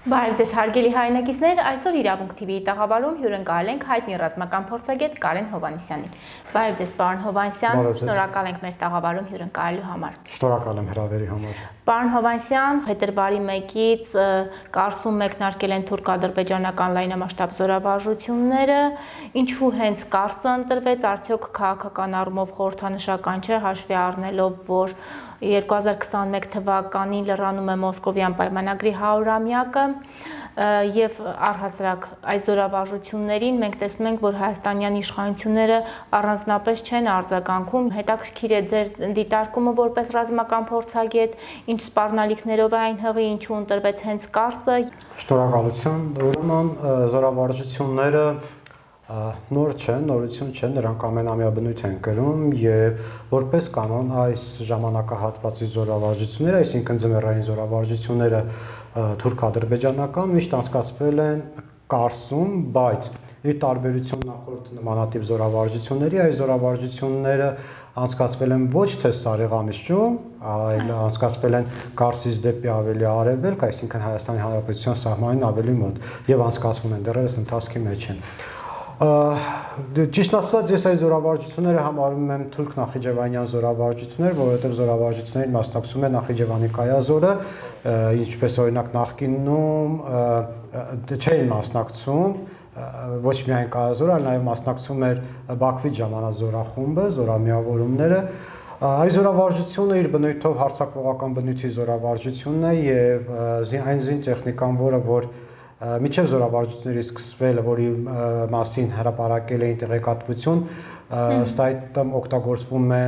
Բարև ձեզ հարգելի հայրենակիցներ, այսօր Իրավունք TV-ի տաղավարում հյուրընկալել ենք հայտնի ռազմական փորձագետ Կարեն Հովհաննիսյանին։ Բարև ձեզ, պարոն Հովհաննիսյան, շնորհակալ ենք մեր տաղավարում հյուրընկալելու համար։ Շնորհակալ եմ հրավերի համար։ Պարոն Հովհաննիսյան, փետրվարի 1-ից Կարսում մեկնարկել են թուրք-ադրբեջանական լայնամասշտաբ զորավարժությունները, ինչու հենց Կարսը ընտրվեց, արդյոք քաղաքական առումով խորհրդանշական չէ, հաշվի առնելով, որ 2021 թվականին լրանում է Մոսկովյան պայմանագրի 100-ամյակը եւ առհասարակ այս զորավարժություններին մենք տեսնում ենք, որ հայաստանյան իշխանությունները առանձնապես չեն արձագանքում, հետաքրքիր է ձեր դիտարկումը որպես ռազմական փորձագետ, ինչ սպառնալիքներով է այն հղի, ինչու ընտրվեց հենց Կարսը։ Շնորհակալություն, ուրեմն զորավարժությունները նոր չեն, նորություն չեն, նրանք ամենամյա բնույթ են կրում եւ որպես կանոն այս ժամանակահատվածի զորավարժությունները, այսինքն ձմեռային զորավարժությունները թուրք-ադրբեջանական միշտ անցկացվել են Կարսում, բայց ի տարբերություն նախորդ նմանատիպ զորավարժությունների, այս զորավարժությունները անցկացվել են ոչ թե Սարեղամիջում, այլ անցկացվել են Կարսից դեպի ավելի արևելք, այսինքն Հայաստանի Հանրապետության սահմանին ավելի մոտ եւ անցկացվում են դեռևս ընթացքի մեջ են։ Ճիշտ ասած, ես այս զորավարժությունները համարում եմ թուրք-նախիջևանյան զորավարժություններ, որովհետև զորավարժություններին մասնակցում է Նախիջևանի կայազորը, ինչպես օրինակ նախկինում չէին մասնակցում, ոչ միայն կայազորը, այլ նաև մասնակցում էր Բաքվից ժամանած զորախումբը, զորամիավորումները։ Այս զորավարժությունը իր բնույթով հարձակողական բնույթի զորավարժությունն է եւ այն զինտեխնիկան, որ միջև զորավարժությունների սկսվելը, որի մասին հրապարակել էին տեղեկատվություն, ըստ այդմ օգտագործվում է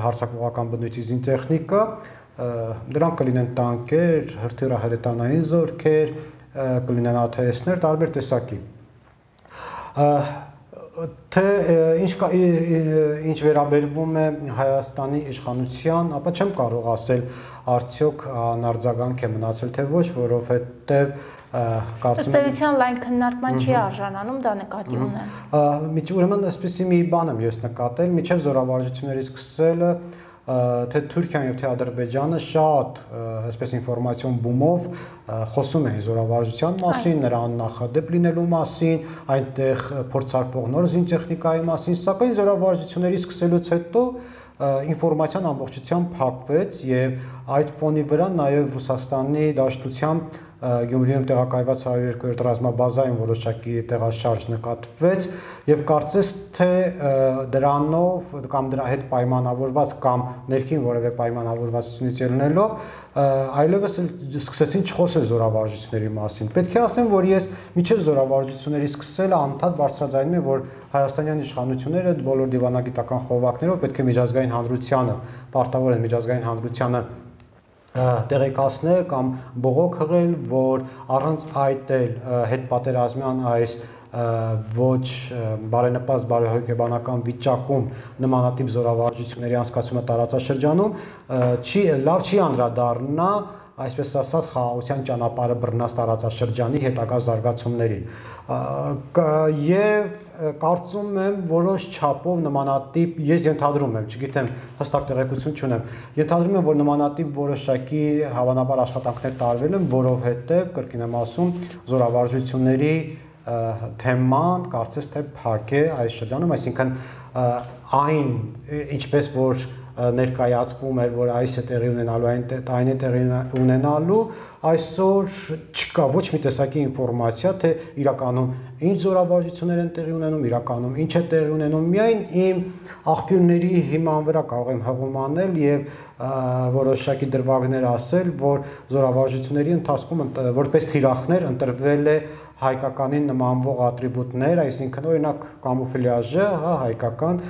հարձակողական բնույթի զինտեխնիկա, դրանք կլինեն տանկեր, հրթիռահրետանային զորքեր, կլինեն ԱԹՍ-ներ, տարբեր տեսակի։ Թե ինչ վերաբերվում է Հայաստանի իշխանության, ապա չեմ կարող ասել արդյոք անարձագանք է մնացել, թե ոչ, որովհետև Ըստեյության լայն քննարկման չի արժանանում, դա նկատի ունեմ։ Ուրեմն այսպեսի մի բան եմ ես նկատել, միջև զորավարժությունների սկսելը, թե Թուրքիան եւ թե Ադրբեջանը շատ այսպես ինֆորմացիոն բումով խոսում էին զորավարժության մասին, նրա աննախադեպ լինելու մասին, այնտեղ փորձարկվող նոր զինտեխնիկայի մասին, սակայն զորավարժությունների սկսելուց հետո ինֆորմացիան ամբողջությամբ փակվեց եւ այդ ֆոնի վրա նաեւ Ռուսաստանի Դաշնությամբ Գյումրիում տեղակայված 102-րդ ռազմաբազայում որոշակի տեղաշարժ նկատվեց եւ կարծես թե դրանով կամ դրա հետ պայմանավորված կամ ներքին որևէ պայմանավորվածությունից ելնելով այլևս սկսեցին չխոսել զորավարժությունների մասին։ Պետք է ասեմ, որ ես միջև զորավարժությունների սկսելը անդադ բարձրաձայնում եմ, որ հայաստանյան իշխանությունները բոլոր դիվանագիտական խողովակներով պետք է միջազգային հանրությանը պարտավոր են միջազգային հանրությանը տեղեկացնել կամ բողոք հղել, որ առանց այդ էլ հետպատերազմյան այս ոչ բարենպաստ բարեհոգեբանական վիճակում նմանատիպ զորավարժությունների անցկացումը տարածաշրջանում լավ չի անդրադառնա, այսպես ասած, խաղաղության ճանապարհը բռնած տարածաշրջանի հետագա զարգացումներին։ Եվ կարծում եմ որոշ չափով նմանատիպ, ես ենթադրում եմ, չգիտեմ, հստակ տեղեկություն չունեմ, ենթադրում եմ, որ նմանատիպ որոշակի հավանաբար աշխատանքներ տարվել են, որովհետև, կրկին եմ ասում, զորավարժությունների թեման կարծես թե փակ է այս շրջանում, այսինքն այն, ինչպես որ ներկայացվում էր, որ այս է տեղի ունենալու, այն է տեղի ունենալու, այսօր չկա ոչ մի տեսակի ինֆորմացիա, թե իրականում ինչ զորավարժություններ են տեղի ունենում, իրականում ինչ է տեղի ունենում, միայն իմ աղբյուրների հիման վրա կարող եմ հղում անել եւ որոշակի դրվագներ ասել, որ զորավարժությունների ընթացքում որպես թիրախներ ընտրվել է հայկականին նմանվող ատրիբուտներ, այսինքն օրինակ կամուֆլյաժը, հայկական,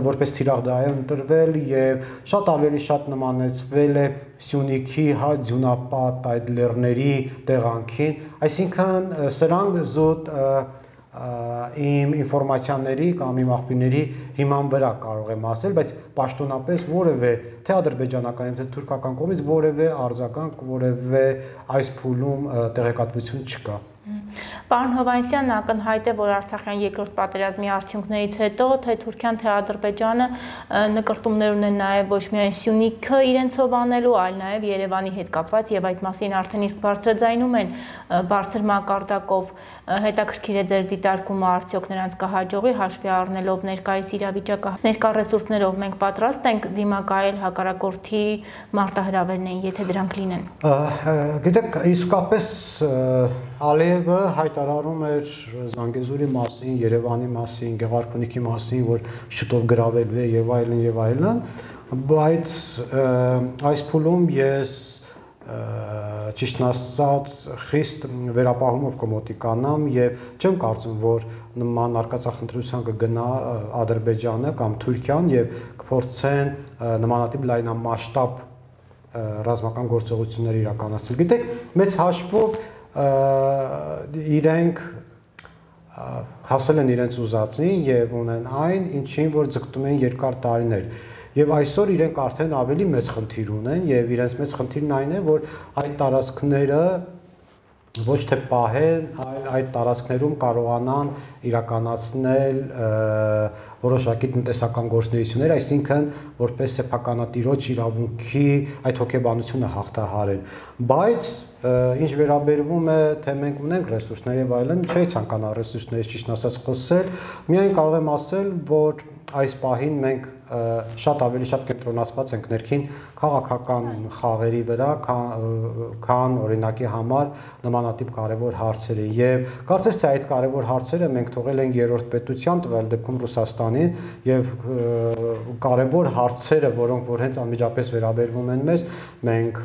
որպես թիրախ դա է ընտրվել եւ շատ ավելի շատ նմանեցվել է Սյունիքի ձյունապատ այդ լեռների տեղանքին, այսինքն սրանք զուտ իմ ինֆորմացիաների կամ իմ աղբյուրների հիման վրա կարող եմ ասել, բայց պաշտոնապես որևէ թե ադրբեջանական թե թուրքական կողմից որևէ արձագանք, որևէ այս փուլում տեղեկատվություն չկա։ Պարոն Հովհաննիսյան, ակնհայտ է, որ Արցախյան երկրորդ պատերազմի արդյունքներից հետո թե Թուրքիան, թե Ադրբեջանը նկրտումներ ունեն նաև ոչ միայն Սյունիքը իրենցով անելու, այլ նաև Երևանի հետ կապված եւ այդ մասին արդեն իսկ բարձրաձայնում են բարձր մակարդակով։ Հետաքրքիր է ձեր դիտարկումը, արդյոք նրանց կհաջողի հաշվի առնելով ներկայիս իրավիճակը, ներկա ռեսուրսներով մենք պատրաստ ենք դիմակայել հակառակորդի մարտահրավերներին, եթե դրանք լինեն։ Գիտեք, իսկապես Ալիևը հայտարարում էր Զանգեզուրի մասին, Երևանի մասին, Գեղարքունիքի մասին, որ շուտով գրավելու է եւ այլն եւ այլն, բայց այս փուլում ես ճիշտն ասած խիստ վերապահումով կմոտիկանամ եւ չեմ կարծում, որ նման արկածախնդրության կգնա Ադրբեջանը կամ Թուրքիան եւ կփորձեն նմանատիպ լայնամասշտաբ ռազմական գործողություններ իրականացնել։ Գիտեք, մեծ հաշվով իրենք հասել են իրենց ուզածին եւ ունեն այն, ինչին որ ձգտում են երկար տարիներ։ Եվ այսօր իրենք արդեն ավելի մեծ խնդիր ունեն եւ իրենց մեծ խնդիրն այն է, որ այդ տարածքները ոչ թե պահեն, այլ այդ տարածքներում կարողանան իրականացնել որոշակի տնտեսական գործունեություններ, այսինքն որպես սեփականատիրոջ իրավունքի այդ հոգեբանությունը հաղթահարեն։ Բայց ինչ վերաբերվում է, թե մենք ունենք ռեսուրսներ եւ այլն, չի ցանկանա ռեսուրսներից ճիշտ ասած խոսել, միայն կարող եմ ասել, որ այս պահին մենք շատ ավելի շատ կենտրոնացված ենք ներքին քաղաքական խաղերի վրա, քան օրինակի համար նմանատիպ կարևոր հարցերի եւ կարծես թե այդ կարևոր հարցերը մենք թողել ենք երրորդ պետության, տվյալ դեպքում Ռուսաստանին եւ կարևոր հարցերը, որոնք որ հենց անմիջապես վերաբերվում են մեզ, մենք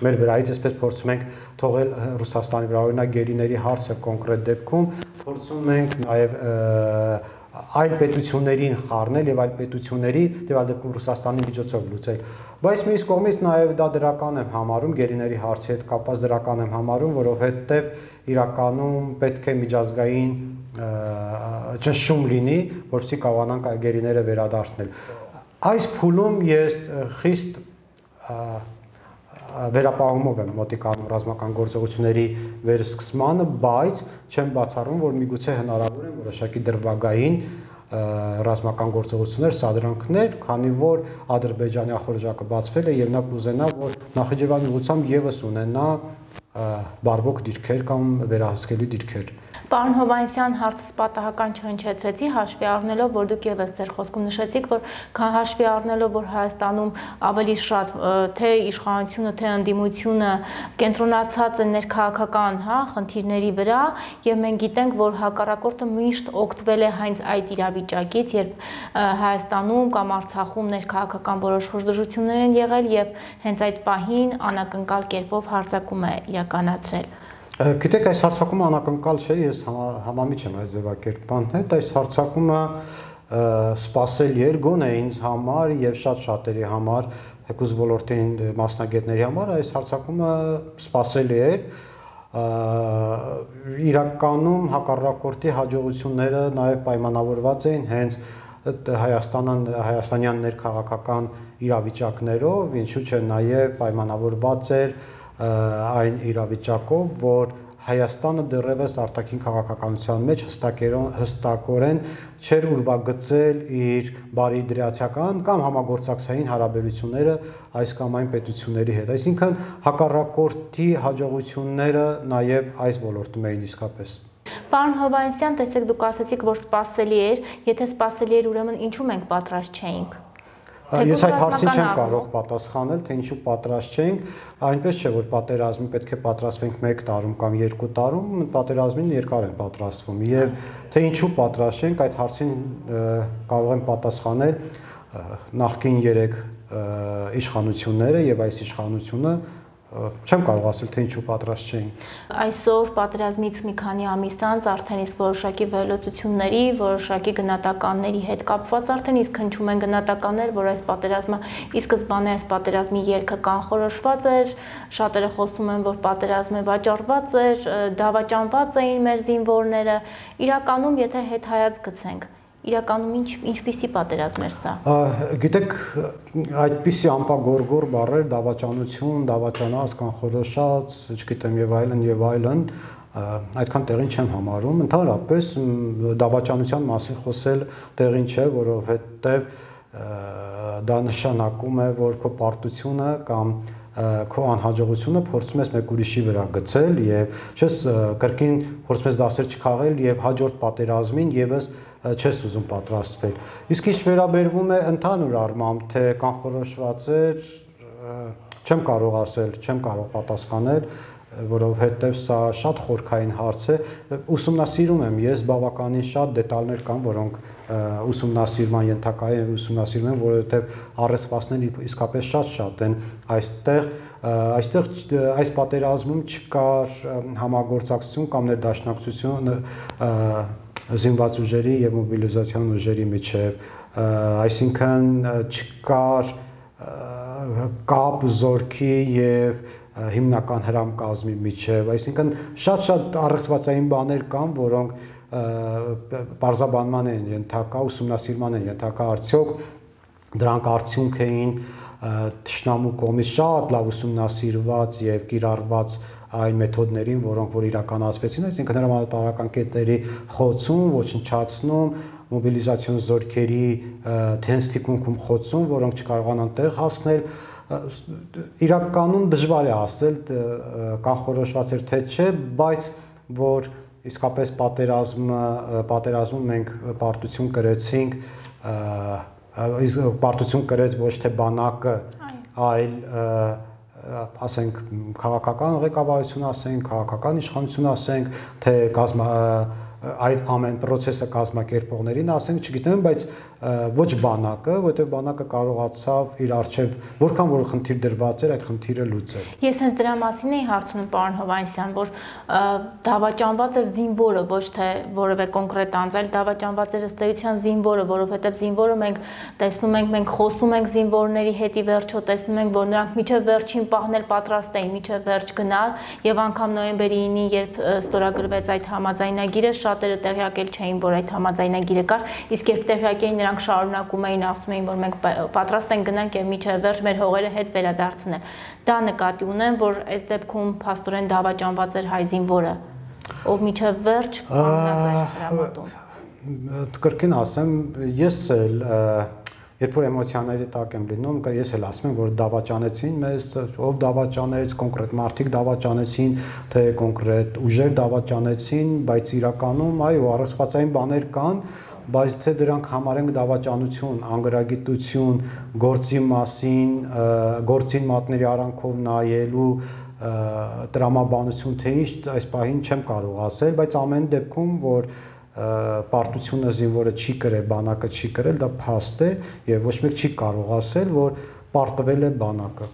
մեր վրայից այսպես փորձում ենք թողել Ռուսաստանի վրա, օրինակ գերիների հարցը կոնկրետ դեպքում փորձում ենք նաեւ այլ պետություններին խառնել եւ այլ պետությունների տվյալ դեպքում Ռուսաստանի միջոցով լուծել։ Բայց մյուս կողմից նաեւ դա դրական եմ համարում, գերիների հարցի հետ կապված դրական եմ համարում, որովհետեւ իրականում պետք է միջազգային ճնշում լինի, որպեսզի կարողանանք այդ գերիները վերադարձնել։ Այս փուլում ես խիստ վերապահումով եմ մոտիկանում ռազմական գործողությունների վերսկսմանը, բայց չեմ բացառում, որ միգուցե հնարավոր է որոշակի դրվագային ռազմական գործողություններ, սադրանքներ, քանի որ Ադրբեջանի ախորժակը բացվել է եւ նա կուզենա, որ Նախիջևանի ուղղությամբ եւս ունենա բարվոք դիրքեր կամ վերահսկելի դիրքեր։ Պարոն Հովհաննիսյան, հարցս պատահական չհնչեցրեցի, հաշվի առնելով, որ դուք եւս ձեր խոսքում նշեցիք, որ հաշվի առնելով, որ Հայաստանում ավելի շատ թե իշխանությունը, թե ընդդիմությունը կենտրոնացած են ներքաղաքական, խնդիրների վրա, եւ մենք գիտենք, որ հակառակորդը միշտ օգտվել է հենց այդ իրավիճակից, երբ Հայաստանում կամ Արցախում ներքաղաքական որոշ խժդժություններ են եղել եւ հենց այդ պահին անակնկալ կերպով հարձակում է իրականացրել։ Գիտեք, այս հարձակումը անակնկալ չէ, ես համամիջ եմ այդ ձևակերպման հետ, այս հարձակումը սպասելի էր գոնե ինձ համար եւ շատ շատերի համար, թեկուզ ոլորտի մասնագետների համար, այս հարձակումը սպասելի էր։ Իրականում հակառակորդի հաջողությունները նաեւ պայմանավորված էին հենց հայաստանյան ներքաղաքական իրավիճակներով, ինչու՞ չէ նաեւ պայմանավորված էր այն իրավիճակով, որ Հայաստանը դեռևս արտաքին քաղաքականության մեջ հստակորեն չէր ուրվագծել իր բարիդրացիական կամ համագործակցային հարաբերությունները այս կամ այն պետությունների հետ։ Այսինքն հակառակորդի հաջողությունները նաև այս ոլորտում էին իսկապես։ Պարոն Հովհաննիսյան, տեսեք, դուք ասացիք, որ սպասելի էր, եթե սպասելի էր, ուրեմն ինչու մենք պատրաստ չէինք։ Ես այդ հարցին չեմ կարող պատասխանել, թե ինչու պատրաստ չենք, այնպես չէ, որ պատերազմի պետք է պատրաստվենք 1 տարում կամ 2 տարում, պատերազմին երկար են պատրաստվում, եւ թե ինչու պատրաստ չենք, այդ հարցին կարող են պատասխանել նախկին 3 իշխանությունները եւ այս իշխանությունը չեմ կարող ասել, թե ինչու պատրաստ չէին։ Այսօր պատերազմից մի քանի ամիս անց արդեն իսկ որոշակի վերլուծությունների, որոշակի գնահատականների հետ կապված արդեն իսկ հնչում են գնահատականներ, որ այս պատերազմը ի սկզբանե այս պատերազմի ելքը կանխորոշված էր, շատերը խոսում են, որ պատերազմը վաճառված էր, դավաճանված էին մեր զինվորները։ Իրականում, եթե հետ հայաց գցենք, Իրականում ինչպիսի պատերազմ էր սա։ Գիտեք, այդպիսի ամպագորգոր բառեր դավաճանություն, դավաճանած, կանխորոշած, չգիտեմ եւ այլն, այդքան տեղին չեմ համարում։ Ընդհանրապես դավաճանության մասին խոսել տեղին չէ, որովհետեւ դա նշանակում է, որ քո պարտությունը կամ քո անհաջողությունը փորձում ես մեկ ուրիշի վրա գցել եւ չես կրկին փորձում ես դասեր չքաղել եւ հաջորդ պատերազմին եւս չես ուզում պատրաստվել։ Իսկ ինչ վերաբերվում է ընդհանուր առմամբ, թե կանխորոշված էր, չեմ կարող ասել, չեմ կարող պատասխանել, որովհետև սա շատ խորքային հարց է, ուսումնասիրում եմ, ես բավականին շատ դետալներ կան, որոնք ուսումնասիրման ենթակա են, ուսումնասիրում եմ, որովհետև առեցվածները իսկապես շատ են այստեղ այս պատերազմում չկար համագործակցություն կամ ներդաշնակցություն զինված ուժերի եւ մոբիլիզացիոն ուժերի միջև, այսինքն չկար կապ զորքի եւ հիմնական հրամկազմի միջև, այսինքն շատ առեղծվածային բաներ կան, որոնք պարզաբանման են ենթակա, ուսումնասիրման են ենթակա, արդյոք դրանք արդյունք էին թշնամու կողմից շատ լավ ուսումնասիրված եւ կիրառված այն մեթոդներին, որոնք որ իրականացվեցին, այսինքն հրամանատարական կետերի խոցում, ոչնչացնում, մոբիլիզացիոն զորքերի թենց թիկունքում խոցում, որոնք չկարողանան տեղ հասնել, իրականում դժվար է ասել կանխորոշված էր թե չէ, բայց որ իսկապես պատերազմում մենք պարտություն կրեցինք, պարտություն կրեց ոչ թե բանակը, այլ ասենք քաղաքական ղեկավարություն ասենք, քաղաքական իշխանություն ասենք, թե այդ ամեն process-ը կազմակերպողներին ասենք, չգիտեմ, բայց ոչ բանակը, որտեղ բանակը կարողացավ իր արժև որքան որ խնդիր դրված էր, այդ խնդիրը լուծել։ Ես հենց դրա մասին էի հարցնում պարոն Հովհաննիսյան, որ դավաճանված էր զինվորը, ոչ թե որևէ կոնկրետ անձ, այլ դավաճանված էր ըստ էության զինվորը, որովհետև զինվորը մենք տեսնում ենք, մենք խոսում ենք զինվորների հետ ի վերջո, տեսնում ենք, որ նրանք միջև վերջին պահն էլ պատրաստ էին, միջև վերջ գնալ, եւ անգամ նոյեմբերի 9-ին, երբ ստորագրվեց այդ համաձայնագիրը, շատերը տեղյակ չէին, որ այդ համաձայնագիրը կար, իսկ երբ տեղյակ էին, նրանք շարունակում էին, ասում էին, որ մենք պատրաստ ենք գնանք եւ միջև վերջ մեր հողերը հետ վերադարձնել։ Դա նկատի ունեմ, որ այս դեպքում փաստորեն դավաճանված էր հայ զինվորը, ով միջև վերջ կանգնած էր հրամատում։ Կրկին ասեմ, ես էլ երբ որ էմոցիաների տակ եմ լինում, ես էլ ասում եմ, որ դավաճանեցին մեզ, ով դավաճանեց, կոնկրետ մարդիկ դավաճանեցին, թե կոնկրետ ուժեր դավաճանեցին, բայց իրականում այո, առեղծվածային բաներ կան, բայց թե դրանք համարենք դավաճանություն, անգրագիտություն, գործի մասին, գործին մատների արանքով նայելու տրամաբանություն, թե ինչ այս պահին չեմ կարող ասել, բայց ամեն դեպքում, որ պարտությունը զինվորը չի կրել, բանակը չի կրել, դա փաստ է եւ ոչ մեկ չի կարող ասել, որ պարտվել է բանակը։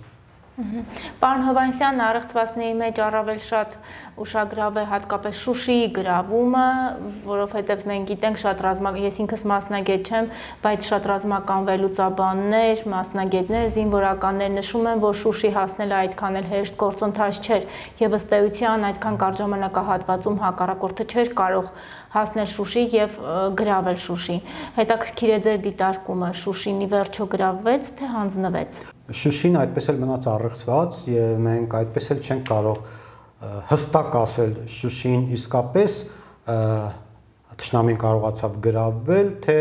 Պարոն Հովհաննիսյան, առեղծվածների մեջ առավել շատ ուշագրավ է հատկապես Շուշիի գրավումը, որովհետև մենք գիտենք շատ ես ինքս մասնագետ չեմ, բայց շատ ռազմական վերլուծաբաններ, մասնագետներ, զինվորականներ նշում են, որ Շուշի հասնելը այդքան էլ հեշտ գործընթաց չէր եւ ըստ էության այդքան կարճ ժամանակահատվածում հակառակորդը չէր կարող հասնել Շուշի եւ գրավել Շուշին։ Հետաքրքիր է ձեր դիտարկումը, Շուշին ի վերջո գրավվեց, թե հանձնվեց։ Շուշին այդպես էլ մնաց առեղծված եւ մենք այդպես էլ չենք կարող հստակ ասել Շուշին իսկապես թշնամին կարողացավ գրավել, թե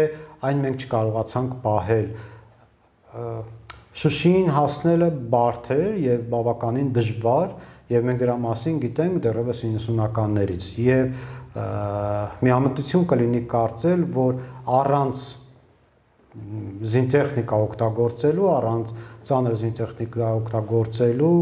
այն մենք չկարողացանք պահել։ Շուշին հասնելը բարդ էր եւ բավականին դժվար եւ մենք դրա մասին գիտենք դեռևս 90-ականներից եւ միամտություն կլինի կարծել, որ առանց զինտեխնիկա օգտագործելու, առանց ծանր զինտեխնիկա օգտագործելու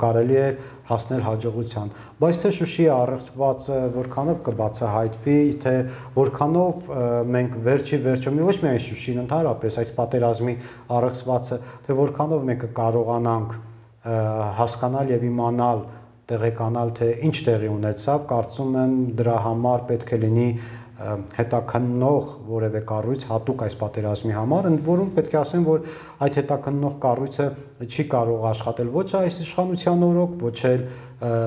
կարելի է հասնել հաջողության, բայց թե Շուշիի առեղծվածը որքանով կբացահայտվի, թե որքանով մենք վերջո ոչ միայն Շուշին, ընդհանրապես այս պատերազմի առեղծվածը, թե որքանով մենք կարողանանք հասկանալ եւ իմանալ, տեղեկանալ, թե ինչ տեղի ունեցավ, կարծում եմ դրա համար պետք է լինի հետաքննող որևէ կառույց հատուկ այս պատերազմի համար, ընդ որում պետք է ասեմ, որ այդ հետաքննող կառույցը չի կարող աշխատել ոչ այս իշխանության օրոք, ոչ էլ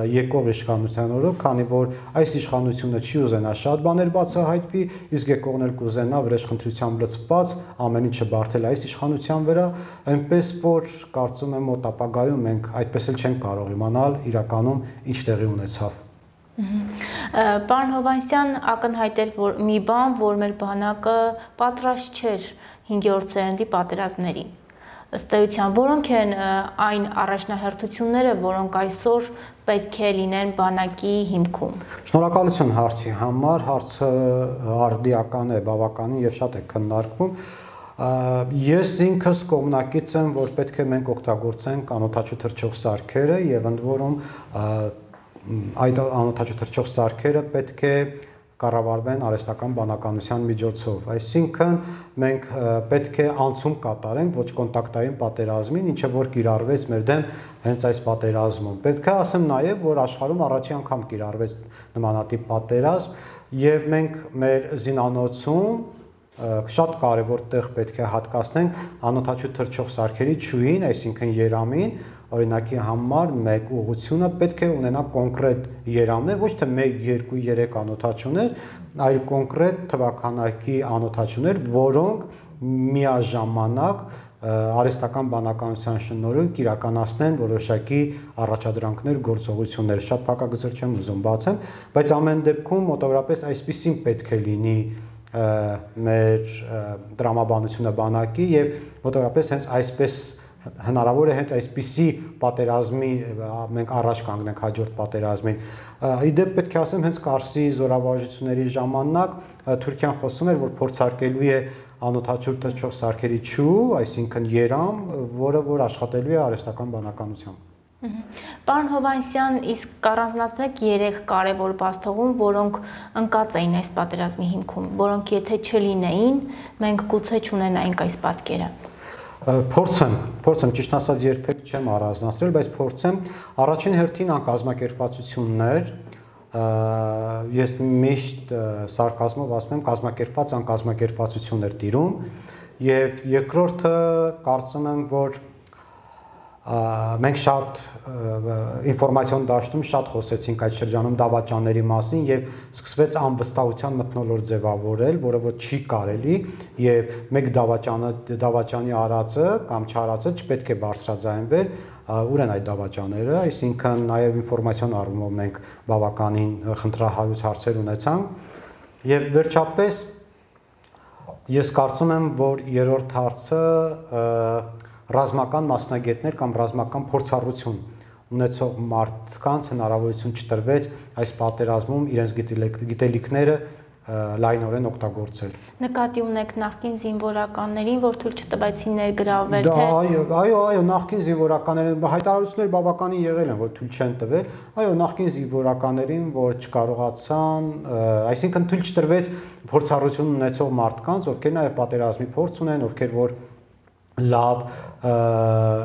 եկող իշխանության օրոք, քանի որ այս իշխանությունը չի ուզենա շատ բաներ բացահայտվի, իսկ եկողն էլ կուզենա վրեժխնդրությամբ լցված ամեն ինչը բարթել այս իշխանության վրա, այնպես որ կարծում եմ մոտ ապագայում մենք այդպես էլ չենք կարող իմանալ իրականում ինչ տեղի ունեցավ։ Պարոն Հովհաննիսյան, ակնհայտ էր մի բան, որ մեր բանակը պատրաստ չէր 5-րդ սերնդի պատերազմներին։ Ըստ էության, որոնք են այն առաջնահերթությունները, որոնք այսօր պետք է լինեն բանակի հիմքում։ Շնորհակալություն հարցի համար, հարցը արդիական է, բավականին եւ շատ է քննարկվում։ Ես ինքս կողմնակից եմ, որ պետք է մենք օգտագործենք անօդաչու թռչող սարքերը եւ ընդ որում այդ անօդաչու թռչող սարքերը պետք է կառավարվեն արհեստական բանականության միջոցով, այսինքն մենք պետք է անցում կատարենք ոչ կոնտակտային պատերազմին, ինչը որ կիրառվեց մեր դեմ հենց այս պատերազմում։ Պետք է ասեմ նաև, որ աշխարհում առաջին անգամ կիրառվեց նմանատիպ պատերազմ եւ մենք մեր զինանոցում շատ կարևոր տեղ պետք է հատկացնենք անօդաչու թռչող սարքերի չուին, այսինքն երամին, օրինակի համար մեկ ուղղությունը պետք է ունենա կոնկրետ երամներ, ոչ թե 1, 2, 3 անօդաչուներ, այլ կոնկրետ թվականակի անօդաչուներ, որոնք միաժամանակ արհեստական բանականության շնորհիվ կիրականացնեն որոշակի առաջադրանքներ, գործողություններ, շատ փակագծեր չեմ ուզում բացեմ, բայց ամեն դեպքում մոտավորապես այսպեսին պետք է լինի մեր տրամաբանությունը բանակի եւ մոտավորապես հենց այսպես հնարավոր է հենց այսպիսի պատերազմի մենք առաջ կանգնենք հաջորդ պատերազմին։ Իդեպ պետք է ասեմ հենց Կարսի զորավարժությունների ժամանակ Թուրքիան խոսում էր, որ փորձարկելու է անօդաչու թռչող սարքերի չու, այսինքն երամ, որը որ աշխատելու է արհեստական բանականությամբ։ Պարոն Հովհաննիսյան, իսկ կառանձնացնեք 3 կարևոր բացթողում, որոնք ընկած էին այս պատերազմի հիմքում, որոնք եթե չլինեին, մենք գուցե չունենայինք այս պատկերը։ Փորձեմ, ճիշտ ասած երբեք չեմ առանձնացրել, բայց փորձեմ առաջին հերթին անկազմակերպվածություններ, ես միշտ սարկազմով ասում եմ կազմակերպված անկազմակերպվածություններ տիրում եւ երկրորդը կարծում եմ, որ մենք շատ ինֆորմացիոն դաշտում շատ խոսեցինք այդ շրջանում դավաճանների մասին եւ սկսվեց անվստահության մթնոլորտ ձևավորել, որը որ չի կարելի եւ մեկ դավաճանի արածը կամ չարածը չպետք է բարձրաձայնվեր, ուր են այդ դավաճանները, այսինքն նաեւ ինֆորմացիոն առումով մենք բավականին խնդրահարույց հարցեր ունեցանք եւ վերջապես ես կարծում եմ, որ երրորդ հարցը ռազմական մասնագետներ կամ ռազմական փորձառություն ունեցող մարդկանց հնարավորություն չտրվեց այս պատերազմում իրենց գիտելիքները լայնորեն օգտագործել։ Նկատի ունեք նախկին զինվորականներին, որ թույլ չտվեցին ներգրավվել, թե Այո, նախկին զինվորականներին հայտարարություններ բավականին եղել են, որ թույլ չեն տվել, այո, նախկին զինվորականներին, որ չկարողացան, այսինքն թույլ չտրվեց փորձառություն ունեցող մարդկանց, ովքեր նաև պատերազմի փորձ ունեն, ովքեր որ լավ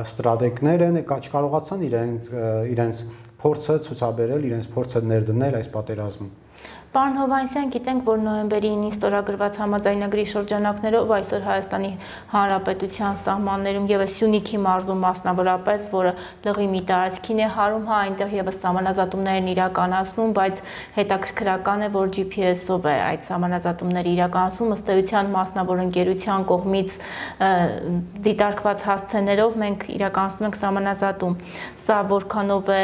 ստրատեգներ են, չկարողացան իրենց փորձը ցուցաբերել, իրենց փորձը ներդնել այս պատերազմում։ Պարոն Հովհաննիսյան, գիտենք, որ նոյեմբերի 9-ին ստորագրված համաձայնագրի շրջանակներով այսօր Հայաստանի Հանրապետության սահմաններում եւս Սյունիքի մարզում մասնավորապես, որը լղի մի տարածքին է հարում, այնտեղ եւս սահմանազատումներ են իրականացնում, բայց հետաքրքրական է, որ GPS-ով է այդ սահմանազատումները իրականացում, ըստ էության մասնավոր ընկերության կողմից դիտարկված հասցեներով մենք իրականացնում ենք սահմանազատում։ Սա որքանով է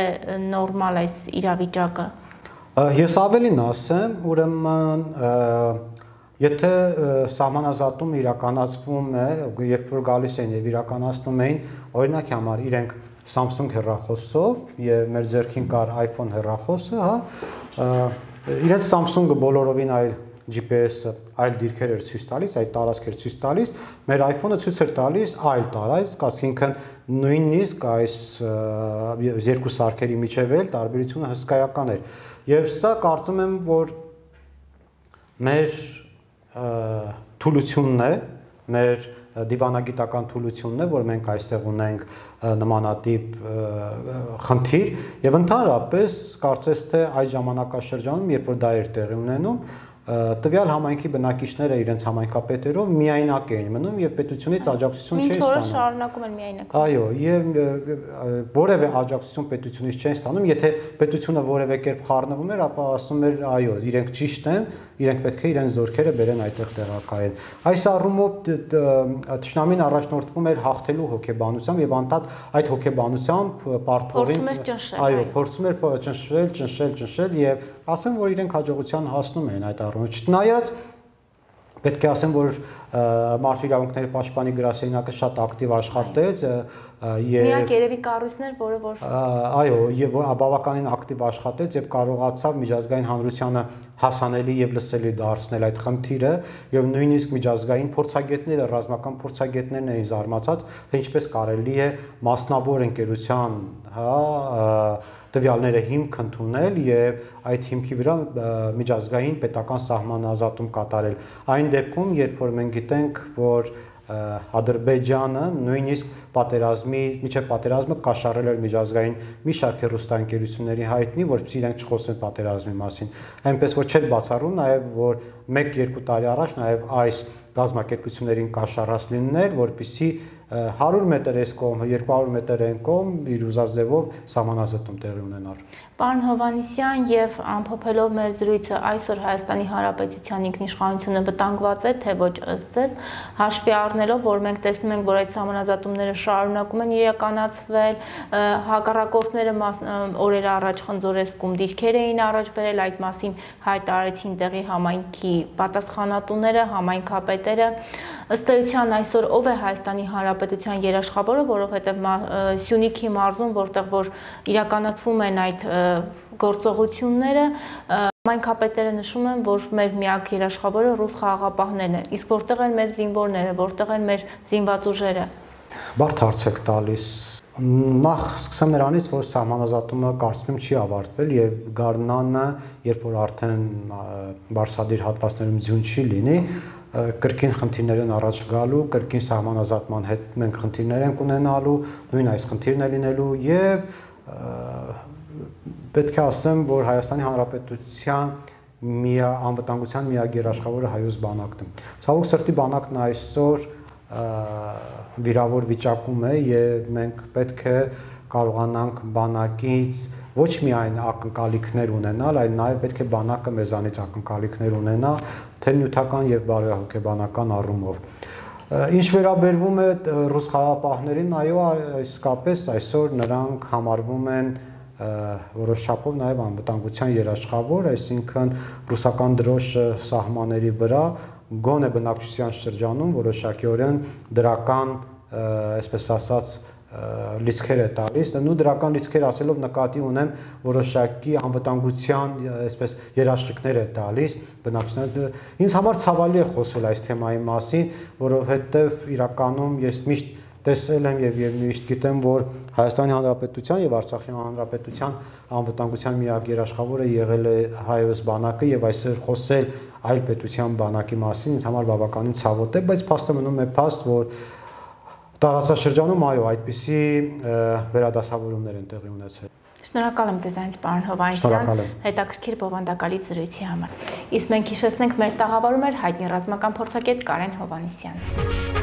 նորմալ այս իրավիճակը։ Ես ավելին ասեմ, ուրեմն եթե սահմանազատում իրականացվում է, երբ որ գալիս են եւ իրականացնում էին, օրինակի համար իրենք Samsung հեռախոսով եւ մեր ձեռքին կար iPhone հեռախոսը, հա, իրենց Samsung-ը բոլորովին այլ GPS-ը այլ դիրքեր էր ցույց տալիս, այդ տարածքեր ցույց տալիս, մեր iPhone-ը ցույց էր տալիս այլ տարածք, այսինքն նույնիսկ այս երկու սարքերի միջև էլ տարբերությունը հսկայական էր։ Եվ սա կարծում եմ, որ մեր թուլությունն է, մեր դիվանագիտական թուլությունն է, որ մենք այստեղ ունենք նմանատիպ խնդիր եւ ընդհանրապես կարծես թե այդ ժամանակաշրջանում, երբ որ դա էր տեղի ունենում, տվյալ համայնքի բնակիչները իրենց համայնքապետերով միայնակ էին մնում եւ պետությունից աջակցություն չէին ստանում։ Մինչ օրս շարունակում են միայնակ։ Այո, եւ որևէ աջակցություն պետությունից չէին ստանում, եթե պետությունը որևէ կերպ խառնվում էր, ապա ասում էր, այո, իրենք ճիշտ են, իրենք պետք է իրենց զորքերը բերեն այդտեղ տեղակայեն։ Այս առումով Թշնամին առաջնորդվում էր հաղթելու հոգեբանությամբ եւ անդադ այդ հոգեբանությամբ պարտվողին, այո, փորձում էր ճնշել եւ ասեմ, որ իրենք հաջողության հասնում էին այդ առումով։ Չնայած պետք է ասեմ, որ Մարդու իրավունքների պաշտպանի գրասենյակը շատ ակտիվ աշխատեց եւ միակ երևի կառույցն էր, որը որ այո, եւ բավականին ակտիվ աշխատեց եւ կարողացավ միջազգային հանրությանը հասանելի եւ լսելի դարձնել այդ խնդիրը եւ նույնիսկ միջազգային փորձագետները, ռազմական փորձագետներն էին զարմացած, թե ինչպես կարելի է մասնավոր ընկերության, տվյալները հիմք ընդունել եւ այդ հիմքի վրա միջազգային պետական սահմանազատում կատարել։ Այն դեպքում, երբ որ մենք գիտենք, որ Ադրբեջանը նույնիսկ միջև պատերազմը կաշառել էր միջազգային մի շարք հեռուստաընկերությունների հայտնի, որպեսզի իրենք չխոսեն պատերազմի մասին։ Այնպես որ չէր բացառում նաև, որ 1-2 տարի առաջ նաև այս գազམ་ակերպություններին կաշառած լիներ, որպեսզի 100 մետր այս կողմ, 200 մետր այն կողմ իր ուզած ձևով սահմանազատում տեղի ունենար։ Պարոն Հովհաննիսյան, եւ ամփոփելով մեր զրույցը, այսօր Հայաստանի Հանրապետության ինքնիշխանությունը վտանգված է, թե ոչ ըստ ձեզ, հաշվի առնելով, որ մենք տեսնում ենք, որ այդ սահմանազատումները շարունակում են իրականացվել, հակառակորդները օրեր առաջ խնձորեսկում դիրքեր էին առաջ բերել, այդ մասին հայտարարեցին տեղի համայնքի պատասխանատուները, համայնքապետերը։ Ըստ էության այսօր ով է Հայաստանի Հանրապետության երաշխավորը, որովհետև Սյունիքի մարզում, որտեղ որ իրականացվում են այդ գործողությունները, համայնքապետերը նշում են, որ մեր միակ երաշխավորը ռուս խաղաղապահներն են, իսկ որտեղ են մեր զինվորները, որտեղ են մեր զինված ուժերը։ Բարդ հարց եք տալիս։ Նախ սկսեմ նրանից, որ սահմանազատումը կարծում եմ չի ավարտվել եւ գարնանը, երբ որ արդեն բարձրադիր հատվածներում ձյուն չի լինի, կրկին խնդիրներ են առաջ գալու, կրկին սահմանազատման հետ մենք խնդիրներ ենք ունենալու, նույն այս խնդիրն է լինելու եւ պետք է ասեմ, որ Հայաստանի Հանրապետության անվտանգության միակ երաշխավորը հայոց բանակն է։ Ցավոք սրտի բանակն այսօր վիրավոր վիճակում է եւ մենք պետք է կարողանանք բանակից ոչ միայն ակնկալիքներ ունենալ, այլ նաեւ պետք է բանակը մեզանից ակնկալիքներ ունենա, թե նյութական եւ բարոյահոգեբանական առումով։ Ինչ վերաբերվում է ռուս խաղաղապահներին, այո, իսկապես այսօր նրանք համարվում են որոշ չափով նաև անվտանգության երաշխավոր, այսինքն ռուսական դրոշը սահմանների վրա գոնե բնակչության շրջանում որոշակիորեն դրական, այսպես ասած, լիցքեր է տալիս, ու դրական լիցքեր ասելով նկատի ունեմ որոշակի անվտանգության, այսպես երաշխիքներ է տալիս բնակչության։ Ինձ համար ցավալի է խոսել այս թեմայի մասին, որովհետև իրականում ես միշտ տեսել եմ եւ միշտ գիտեմ, որ Հայաստանի Հանրապետության եւ Արցախի Հանրապետության անվտանգության միակ երաշխավորը եղել է հայոց բանակը եւ այսօր խոսել այլ պետության բանակի մասին ինձ համար բավականին ցավոտ է, բայց փաստը մնում է փաստ, որ տարածաշրջանում այո, այդպիսի վերադասավորումներ են տեղի ունեցել։ Շնորհակալ եմ ձեզ, պարոն Հովհաննիսյան, հետաքրքիր բովանդակալի զրույցի համար։ Իսկ մենք հիշեցնենք մեր տաղավարում էր հայտնի ռազմական փորձագետ Կարեն Հովհաննիսյանը։